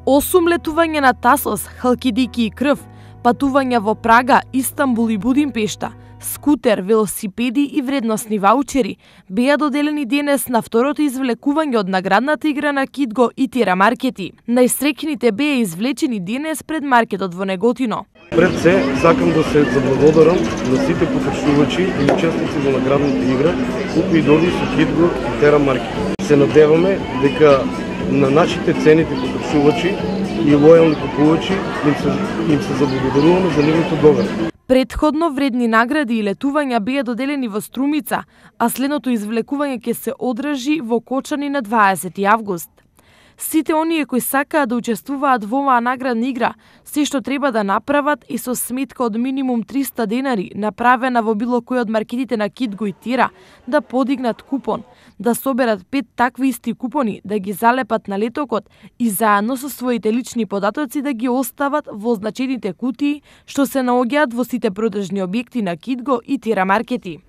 8 летувања на Тасос, Халкидики и Крв, патувања во Прага, Истанбул и Будимпешта, скутер, велосипеди и вредносни ваучери беа доделени денес на второто извлекување од наградната игра на Кидго и Тира маркети. Најстрекните беа извлечени денес пред маркетот во Неготино. Пред се, сакам да се заблагодарам на сите потрошувачи и учесници во наградната игра, кои дојдоа со Кидго и Тира маркети. Се надеваме дека на нашите цените потрошувачи и лојални купувачи им се заблагодаруваме за нивното доверие. Претходно вредни награди и летувања беа доделени во Струмица, а следното извлекување ќе се одржи во Кочани на 20 август. Сите оние кои сакаат да учествуваат во оваа наградна игра, се што треба да направат и со сметка од минимум 300 денари, направена во било кој од маркетите на Кидго и Тира, да подигнат купон, да соберат 5 такви исти купони, да ги залепат на летокот и заедно со своите лични податоци да ги остават во означените кутии што се наоѓаат во сите продажни објекти на Кидго и Тира маркети.